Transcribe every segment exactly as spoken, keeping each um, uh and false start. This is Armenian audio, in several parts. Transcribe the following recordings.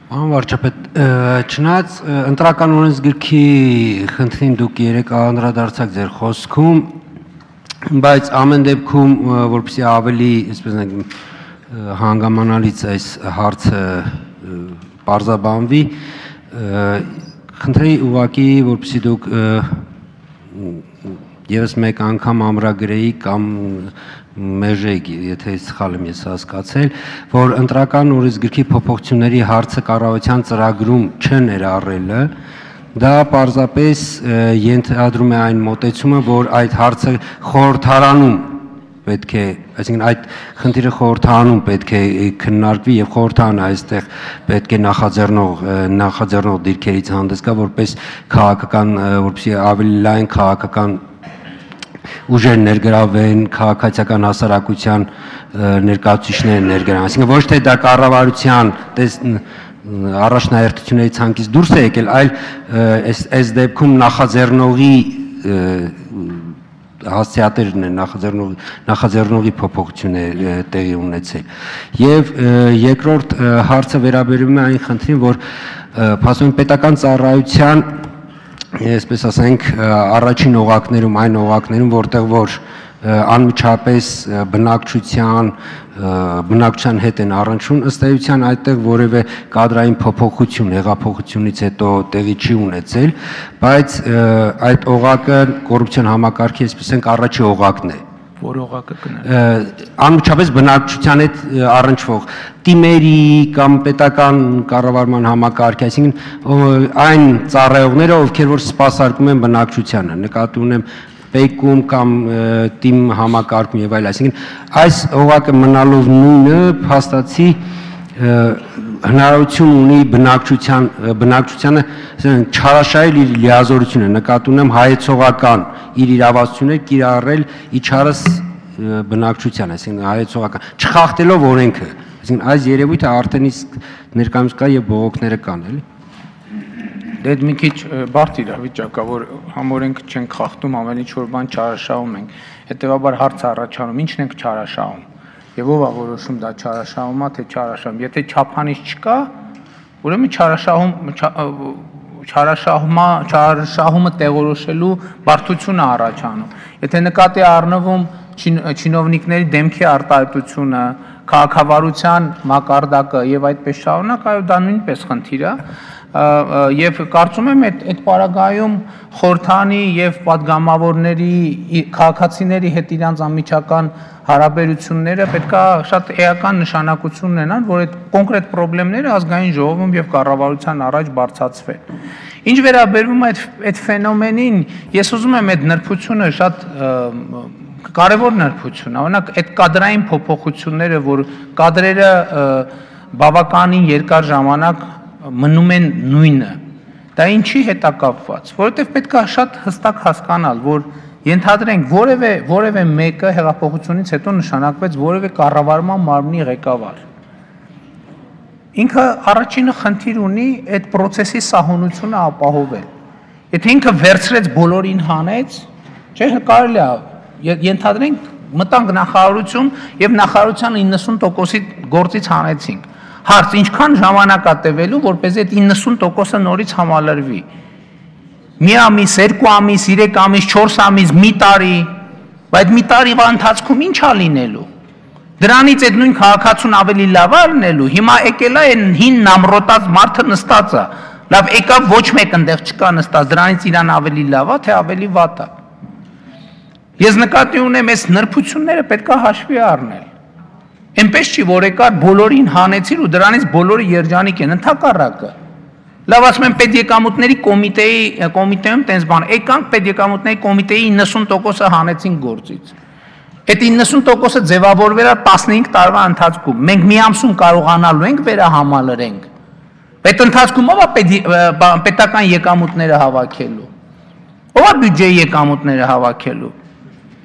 Պարոն վարչապետ, չնայած ընտրական օրենսգրքի խնդրին դուք երեք անդրադարձաք ձեր խոսքում, բայց ամեն դեպքում, որպեսզի ավելի, այսպես ասենք, հանգամանալից այս հարցը պարզաբանվի, խնդրեի ուղղակի, որպեսզի դուք ևս մեկ անգամ ամրագրեի կամ մեժեիք, եթե սխալ եմ ես հասկացել, որ ընտրական օրենսգրքի փոփոխությունների հարցը կառավարության ծրագրում չներառելը, դա պարզապես ենթադրում է այն մոտեցումը, որ այդ հարցը խորհրդարանում պետք է, այսինքն այդ խնդիրը խորհրդարանում պետք է քննարկվի եւ խորհրդարանը այստեղ պետք է նախաձեռնող նախաձեռնող դիրքերից հանդես գա, որպես քաղաքական, որպեսզի ավելի լայն քաղաքական ուժեր ներգրավեն, քաղաքացիական հասարակության ներկայացուցիչներ ներգրավեն, այսինքն ոչ թե դա կառավարության առաջնահերթությունների ցանկից դուրս է եկել, այլ այս դեպքում նախաձեռնողի հասցեատերն է նախաձեռնողի փոփոխություն է տեղի ունեցել։ Եվ երկրորդ հարցը վերաբերում է այն խնդրին, որ փաստորեն պետական ծառայության, այսպես ասենք, առաջին օղակներում, այն օղակներում, որտեղ որ անմիջապես բնակչության բնակչության հետ են առնչվում, ըստ էության այդտեղ որևէ կադրային փոփոխություն հեղափոխությունից հետո տեղի չի ունեցել, բայց այդ օղակը կոռուպցիոն համակարգի, այսպես ասենք, առաջի օղակն է։ Որ օղակը կներեք։ Անմիջապես բնակչության հետ առնչվող տիմերի կամ պետական կառավարման համակարգի, այսինքն այն ծառայողները, ովքեր որ սպասարկում են բնակչությանը, նկատի ունեմ պեկում կամ տիմ համակարգում եւ այլ, այսինքն այս օղակը մնալով նույնը փաստացի հնարավորություն ունի բնակչության բնակչությանը չարաշահել իր լիազորությունը, նկատի ունեմ հայեցողական իր իրավասությունը կիրառել իջարս բնակչության, այսինքն հայեցողական չխախտելով օրենքը, այսինքն այս երևույթը արդեն իսկ ներկայումս կա եւ բողոքները կան, էլի։ Դե մի քիչ բարդ իրավիճակ է, որ համօրենք չենք խախտում, ամեն ինչ որ բան չարաշահում ենք, հետեւաբար հարց առաջանում, ի՞նչն ենք չարաշահում։ Եվ ով է որոշում դա չարաշահում է, թե չարաշահում։ Եթե չափանիշ չկա, ուրեմն չարաշահում չարաշահումա չարաշահումը տեղորոշելու բարդություն է առաջանում։ Եթե նկատի առնվում չինովնիկների դեմքի արտահայտությունը, քաղաքավարության մակարդակը եւ այդպես շարունակ, այո, դա նույնպես խնդիր է։ Եվ կարծում եմ այդ այդ պարագայում խորհրդանի եւ падգամավորների քաղաքացիների հետ իրանց անմիջական հարաբերությունները պետքա շատ էական նշանակություն ունենան, որ այդ կոնկրետ խնդիրները ազգային ժողովում եւ կառավարության առաջ բարձրացվեն։ Ինչ վերաբերում է այդ այդ ֆենոմենին, ես ուզում եմ այդ նրբությունը շատ կարևոր նրբություն, օրինակ այդ կադրային փոփոխությունները, որ կադրերը բավականին երկար ժամանակ մնում են նույնը, դա ինչի հետ է կապված, որովհետև պետք է շատ հստակ հասկանալ, որ ենթադրենք որևէ որևէ մեկը հեղափոխությունից հետո նշանակվեց որևէ կառավարման մարմնի ղեկավար։ Ինքը առաջինը խնդիր ունի այդ process-ի սահունությունը ապահովել։ Եթե ինքը վերցրեց բոլորին հանեց, չէ՞ կարելի է ենթադրենք մտանք նախարարություն եւ նախարարության իննսուն տոկոսի գործից հանեցինք։ Հարց ինչքան ժամանակ է տևելու, որպեսզի այդ իննսուն տոկոսը նորից համալրվի։ Մի ամիս, երկու ամիս, երեք ամիս, չորս ամիս, մի տարի, բայց մի տարի ընթացքում ինչ է լինելու։ Դրանից այդ նույն քաղաքացուն ավելի լավ է լինելու։ Հիմա եկել է այն հին նամրոտած մարդը նստած է։ Լավ, եկավ ոչ մեկ այնտեղ չկա նստած, դրանից իրան ավելի լավ է, թե ավելի վատ է։ Ես նկատի ունեմ, այս նրբությունները պետք է հաշվի առնել։ Այնպես չի, որ եկար բոլորին հանեցիր ու դրանից բոլորը երջանիկ են, ընդհակառակը։ Լավ, ասում եմ պետեկամուտների կոմիտեի կոմիտեում տենց բան, եկանք պետեկամուտների կոմիտեի իննսուն տոկոսը հանեցին գործից։ Այդ իննսուն տոկոսը ձևավորվել է տասնհինգ տարվա ընթացքում։ Մենք մի ամսում կարողանալու ենք վերահամալրենք։ Այդ ընթացքում ով է պետական եկամուտները հավաքելու։ Ով է բյուջեի եկամուտները հավաքելու։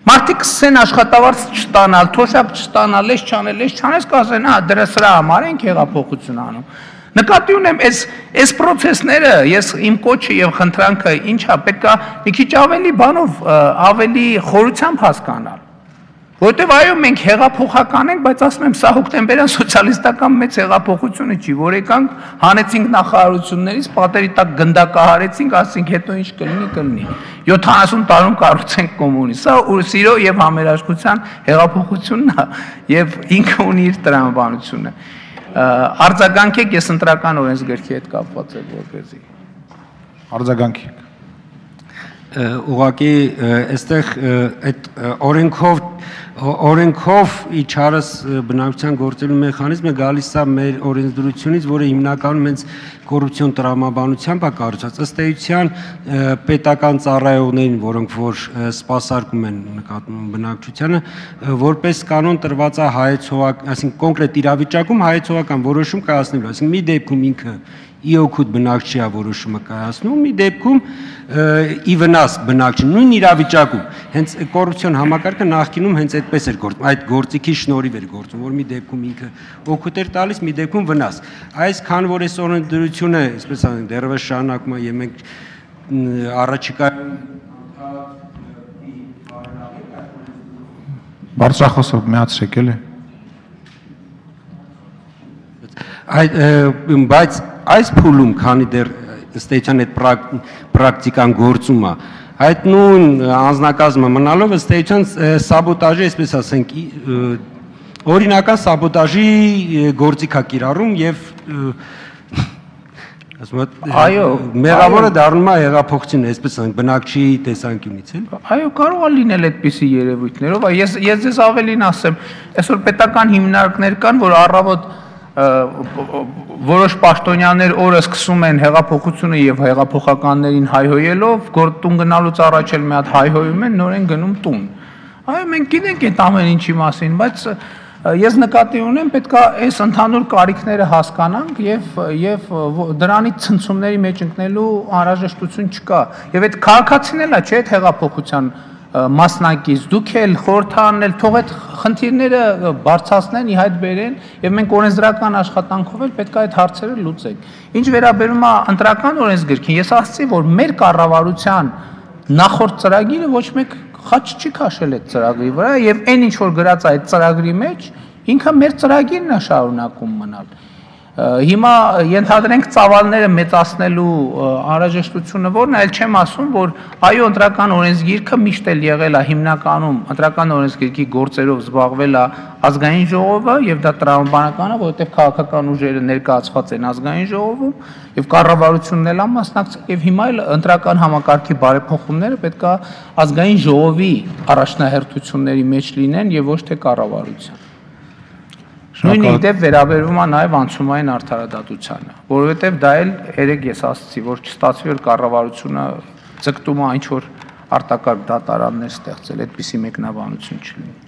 Մարդիկ սկսեն աշխատավարձ չստանալ, թոշակ չստանալ, ես չանել, ես չանես կասեն, հա, դրա սրա համար ենք հեղափոխություն անում։ Նկատի ունեմ, այս այս process-ները, ես իմ կոչը եւ խնդրանքը ինչա, պետք է մի քիչ ավելի բանով, ավելի խորությամբ հասկանալ։ Որտեւ այո մենք հեղափոխական ենք, բայց ասում եմ սա հոկտեմբերյան սոցիալիստական մեծ հեղափոխությունը չի, որ եկանք հանեցինք նախարարություններից, պատերի տակ գնդակահարեցինք, ասենք հետո ինչ կլինի, կլինի։ յոթանասուն տարում կառուցենք կոմունիզմ։ Սա սիրո եւ համերաշխության հեղափոխությունն է եւ ինքը ունի իր տրամաբանությունը։ Արձագանքեք, ես ընտրական օրենսգրքի հետ կապված եմ որպեսզի։ Արձագանքեք։ Ուղղակի այստեղ այդ օրենքով օրենքով իջարս բնակչության գործելու մեխանիզմը գալիս է մեր օրենսդրությունից, որը հիմնականում հենց կոռուպցիոն տրամաբանությամբ է կառուցված։ Ըստ էության պետական ծառայողներին, որոնք որ սպասարկում են նկատմամբ բնակչությանը, որպես կանոն տրված է հայեցողական, այսինքն կոնկրետ իրավիճակում հայեցողական որոշում կայացնելու, այսինքն մի դեպքում ինքը ի օգուտ բնակչիա որոշումը կայացնում, մի դեպքում ի վնաս բնակչի, նույն իրավիճակում, հենց կոռուպցիոն համակարգը նախկինում հենց այդպես էր գործում, այդ գործիքի շնորհիվ էր գործում, որ մի դեպքում ինքը օգուտ էր տալիս, մի դեպքում վնաս։ Այս քան որ այս օրենսդրությունը, այսպես ասենք, դեռևս շարունակում է եւ մենք առաջիկայում Բարձրախոսով միացրեք էլի։ Այդ բայց այս փուլում, քանի դեռ ըստ էության այդ պրակտիկան գործում է, այդ նույն անձնակազմը մնալով ըստ էության սաբոտաժի, այսպես ասենք, օրինական սաբոտաժի գործիք է կիրառում եւ ասում եմ մեղավորը դառնում է հեղափոխություն, այսպես ասենք, բնակչի տեսանկյունից էլ։ Այո, կարող է լինել այդպիսի երևույթներով, ես ես ձեզ ավելին ասեմ, այսօր պետական հիմնարկներ կան, որ առավոտ որոշ պաշտոնյաներ օրը սկսում են հեղափոխությունը եւ հեղափոխականներին հայհոյելով, գործուն գնալուց առաջ էլ մի հատ հայհոյում են, նորեն գնում տուն։ Այո, մենք գիտենք այդ ամեն ինչի մասին, բայց ես նկատի ունեմ, պետքա այս ընդհանուր կարիքները հասկանանք եւ եւ դրանից ցնցումների մեջ ընկնելու անհրաժեշտություն չկա։ Եվ այդ քաղաքացին էլ է, չէ՞, այդ հեղափոխության մասնակից, դուք էլ խորհրդանել, թող այդ խնդիրները բարձրացնեն, ի հայտ բերեն եւ մենք օրենսդրական աշխատանքով էլ պետք է այդ հարցերը լուծենք։ Ինչ վերաբերում է ընտրական օրենսգրքին, ես ասացի, որ մեր կառավարության նախորդ ծրագիրը ոչ մեկ խաչ չի քաշել այդ ծրագրի վրա եւ այն ինչ որ գրած է այդ ծրագրի մեջ, ինքը մեր ծրագիրն է շարունակում մնալ։ Հիմա ենթադրենք ծավալները մեծացնելու անհրաժեշտությունը որն է, այլ չեմ ասում, որ այո ընտրական օրենսգիրքը միշտ էլ եղել է հիմնականում ընտրական օրենսգիրքի գործերով զբաղվել է ազգային ժողովը եւ դա տրամաբանական է, որովհետեւ քաղաքական ուժերը ներկայացված են ազգային ժողովում եւ կառավարությունն էլ է մասնակցել եւ հիմա էլ ընտրական համակարգի բարեփոխումները պետք է ազգային ժողովի առաջնահերթությունների մեջ լինեն եւ ոչ թե կառավարության։ Նույն իդեպ վերաբերվում է նաև անցումային արդարադատությանը, որովհետև դա էլ երեք ես ասացի, որ չստացվի որ կառավարությունը ձգտում է ինչ որ արտակարգ դատարաններ ստեղծել, այդպիսի մեկնաբանություն չլինի։